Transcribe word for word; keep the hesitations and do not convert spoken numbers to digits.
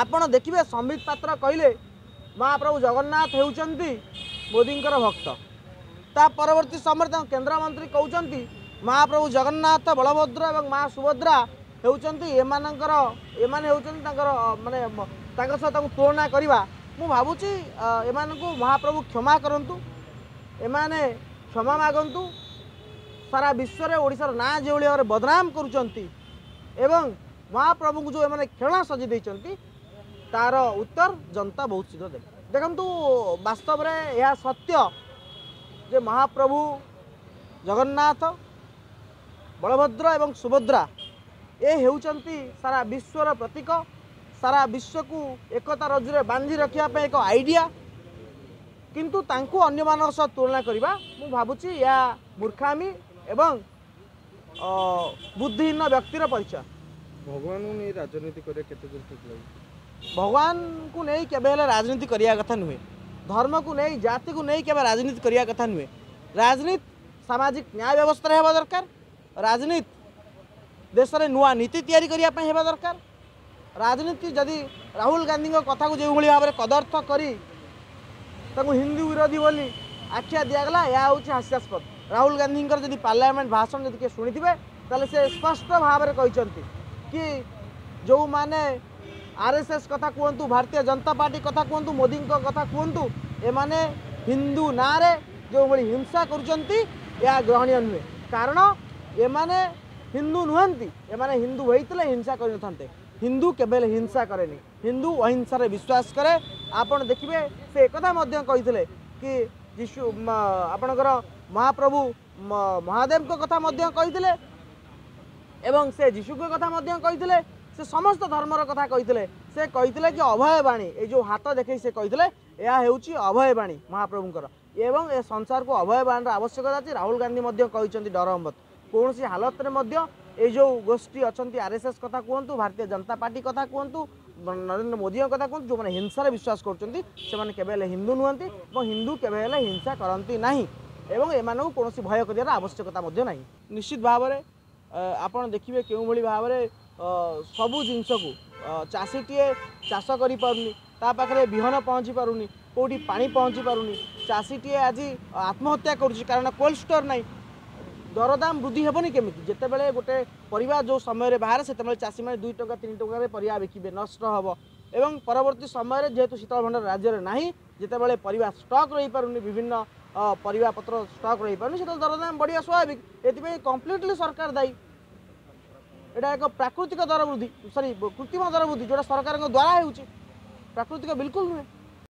ଆପଣ ଦେଖିବେ ସମ୍ବିତ ପାତ୍ର କହିଲେ ମହାପ୍ରଭୁ ଜଗନ୍ନାଥ ହେଉଛନ୍ତି ମୋଦିଙ୍କର ଭକ୍ତ। ତା ପରବର୍ତ୍ତୀ ସମୟରେ ତାଙ୍କ କେନ୍ଦ୍ରମନ୍ତ୍ରୀ କହୁଛନ୍ତି ମହାପ୍ରଭୁ ଜଗନ୍ନାଥ, ବଳଭଦ୍ର ଏବଂ ମା ସୁଭଦ୍ରା ହେଉଛନ୍ତି ଏମାନଙ୍କର, ଏମାନେ ହେଉଛନ୍ତି ତାଙ୍କର, ମାନେ ତାଙ୍କ ସହ ତାଙ୍କୁ ତୁଳନା କରିବା। ମୁଁ ଭାବୁଛି ଏମାନଙ୍କୁ ମହାପ୍ରଭୁ କ୍ଷମା କରନ୍ତୁ, ଏମାନେ କ୍ଷମା ମାଗନ୍ତୁ। ସାରା ବିଶ୍ୱରେ ଓଡ଼ିଶାର ନାଁ ଯେଉଁଭଳି ଭାବରେ ବଦନାମ କରୁଛନ୍ତି ଏବଂ ମହାପ୍ରଭୁଙ୍କୁ ଯେଉଁ ଏମାନେ ଖେଳଣା ସଜେଇ ଦେଇଛନ୍ତି, ତାର ଉତ୍ତର ଜନତା ବହୁତ ଶୀଘ୍ର ଦେବେ। ଦେଖନ୍ତୁ, ବାସ୍ତବରେ ଏହା ସତ୍ୟ ଯେ ମହାପ୍ରଭୁ ଜଗନ୍ନାଥ, ବଳଭଦ୍ର ଏବଂ ସୁଭଦ୍ରା ଏ ହେଉଛନ୍ତି ସାରା ବିଶ୍ୱର ପ୍ରତୀକ, ସାରା ବିଶ୍ୱକୁ ଏକତା ରଜ୍ଜୁରେ ବାନ୍ଧି ରଖିବା ପାଇଁ ଏକ ଆଇଡ଼ିଆ। କିନ୍ତୁ ତାଙ୍କୁ ଅନ୍ୟମାନଙ୍କ ସହ ତୁଳନା କରିବା ମୁଁ ଭାବୁଛି ଏହା ମୂର୍ଖାମି ଏବଂ ବୁଦ୍ଧିହୀନ ବ୍ୟକ୍ତିର ପରିଚୟ। ଭଗବାନଙ୍କୁ ନେଇ ରାଜନୀତି କରିବା କେତେ ଦୂର ଠିକ୍ ଲାଗୁଛି? ଭଗବାନଙ୍କୁ ନେଇ କେବେ ହେଲେ ରାଜନୀତି କରିବା କଥା ନୁହେଁ। ଧର୍ମକୁ ନେଇ, ଜାତିକୁ ନେଇ କେବେ ରାଜନୀତି କରିବା କଥା ନୁହେଁ। ରାଜନୀତି ସାମାଜିକ ନ୍ୟାୟ ବ୍ୟବସ୍ଥାରେ ହେବା ଦରକାର। ରାଜନୀତି ଦେଶରେ ନୂଆ ନୀତି ତିଆରି କରିବା ପାଇଁ ହେବା ଦରକାର। ରାଜନୀତି ଯଦି ରାହୁଲ ଗାନ୍ଧୀଙ୍କ କଥାକୁ ଯେଉଁଭଳି ଭାବରେ କଦର୍ଥ କରି ତାଙ୍କୁ ହିନ୍ଦୁ ବିରୋଧୀ ବୋଲି ଆଖ୍ୟା ଦିଆଗଲା, ଏହା ହେଉଛି ହାସ୍ୟାସ୍ପଦ। ରାହୁଲ ଗାନ୍ଧୀଙ୍କର ଯଦି ପାର୍ଲାମେଣ୍ଟ ଭାଷଣ ଯଦି କିଏ ଶୁଣିଥିବେ, ତାହେଲେ ସେ ସ୍ପଷ୍ଟ ଭାବରେ କହିଛନ୍ତି କି ଯେଉଁମାନେ ଆର୍ ଏସ୍ ଏସ୍ କଥା କୁହନ୍ତୁ, ଭାରତୀୟ ଜନତା ପାର୍ଟି କଥା କୁହନ୍ତୁ, ମୋଦିଙ୍କ କଥା କୁହନ୍ତୁ, ଏମାନେ ହିନ୍ଦୁ ନାଁରେ ଯେଉଁଭଳି ହିଂସା କରୁଛନ୍ତି ଏହା ଗ୍ରହଣୀୟ ନୁହେଁ। କାରଣ ଏମାନେ ହିନ୍ଦୁ ନୁହନ୍ତି। ଏମାନେ ହିନ୍ଦୁ ହୋଇଥିଲେ ହିଂସା କରିନଥାନ୍ତେ। ହିନ୍ଦୁ କେବେ ହେଲେ ହିଂସା କରେନି, ହିନ୍ଦୁ ଅହିଂସାରେ ବିଶ୍ୱାସ କରେ। ଆପଣ ଦେଖିବେ ସେ ଏକଥା ମଧ୍ୟ କହିଥିଲେ କି ଯୀଶୁ, ଆପଣଙ୍କର ମହାପ୍ରଭୁ ମହାଦେବଙ୍କ କଥା ମଧ୍ୟ କହିଥିଲେ ଏବଂ ସେ ଯୀଶୁଙ୍କ କଥା ମଧ୍ୟ କହିଥିଲେ, ସେ ସମସ୍ତ ଧର୍ମର କଥା କହିଥିଲେ। ସେ କହିଥିଲେ କି ଅଭୟ ବାଣୀ, ଏଇ ଯେଉଁ ହାତ ଦେଖେଇ ସେ କହିଥିଲେ ଏହା ହେଉଛି ଅଭୟ ବାଣୀ ମହାପ୍ରଭୁଙ୍କର ଏବଂ ଏ ସଂସାରକୁ ଅଭୟ ବାଣୀର ଆବଶ୍ୟକତା ଅଛି। ରାହୁଲ ଗାନ୍ଧୀ ମଧ୍ୟ କହିଛନ୍ତି ଡର ମତ, କୌଣସି ହାଲତରେ ମଧ୍ୟ ଏଇ ଯେଉଁ ଗୋଷ୍ଠୀ ଅଛନ୍ତି, ଆର୍ ଏସ୍ ଏସ୍ କଥା କୁହନ୍ତୁ, ଭାରତୀୟ ଜନତା ପାର୍ଟି କଥା କୁହନ୍ତୁ, ନରେନ୍ଦ୍ର ମୋଦିଙ୍କ କଥା କୁହନ୍ତୁ, ଯେଉଁମାନେ ହିଂସାରେ ବିଶ୍ୱାସ କରୁଛନ୍ତି ସେମାନେ କେବେ ହେଲେ ହିନ୍ଦୁ ନୁହନ୍ତି ଏବଂ ହିନ୍ଦୁ କେବେ ହେଲେ ହିଂସା କରନ୍ତି ନାହିଁ ଏବଂ ଏମାନଙ୍କୁ କୌଣସି ଭୟ କରିବାର ଆବଶ୍ୟକତା ମଧ୍ୟ ନାହିଁ। ନିଶ୍ଚିତ ଭାବରେ ଆପଣ ଦେଖିବେ କେଉଁଭଳି ଭାବରେ ସବୁ ଜିନିଷକୁ, ଚାଷୀଟିଏ ଚାଷ କରିପାରୁନି, ତା ପାଖରେ ବିହନ ପହଞ୍ଚି ପାରୁନି, କେଉଁଠି ପାଣି ପହଞ୍ଚି ପାରୁନି, ଚାଷୀଟିଏ ଆଜି ଆତ୍ମହତ୍ୟା କରୁଛି କାରଣ କୋଲ୍ଡ ଷ୍ଟୋର୍ ନାହିଁ। ଦରଦାମ ବୃଦ୍ଧି ହେବନି କେମିତି? ଯେତେବେଳେ ଗୋଟେ ପରିବା ଯେଉଁ ସମୟରେ ବାହାରେ, ସେତେବେଳେ ଚାଷୀମାନେ ଦୁଇ ଟଙ୍କା ତିନି ଟଙ୍କାରେ ପରିବା ବିକିବେ, ନଷ୍ଟ ହେବ ଏବଂ ପରବର୍ତ୍ତୀ ସମୟରେ ଯେହେତୁ ଶୀତଳ ଭଣ୍ଡାର ରାଜ୍ୟରେ ନାହିଁ, ଯେତେବେଳେ ପରିବା ଷ୍ଟକ୍ ରହିପାରୁନି, ବିଭିନ୍ନ ପରିବା ପତ୍ର ଷ୍ଟକ୍ ରହିପାରୁନି, ସେତେବେଳେ ଦରଦାମ ବଢ଼ିବା ସ୍ୱାଭାବିକ। ଏଥିପାଇଁ କମ୍ପ୍ଲିଟଲି ସରକାର ଦାୟୀ। ଏଇଟା ଏକ ପ୍ରାକୃତିକ ଦର ବୃଦ୍ଧି, ସରି, କୃତ୍ରିମ ଦର ବୃଦ୍ଧି ଯେଉଁଟା ସରକାରଙ୍କ ଦ୍ୱାରା ହେଉଛି, ପ୍ରାକୃତିକ ବିଲକୁଲ ନୁହେଁ।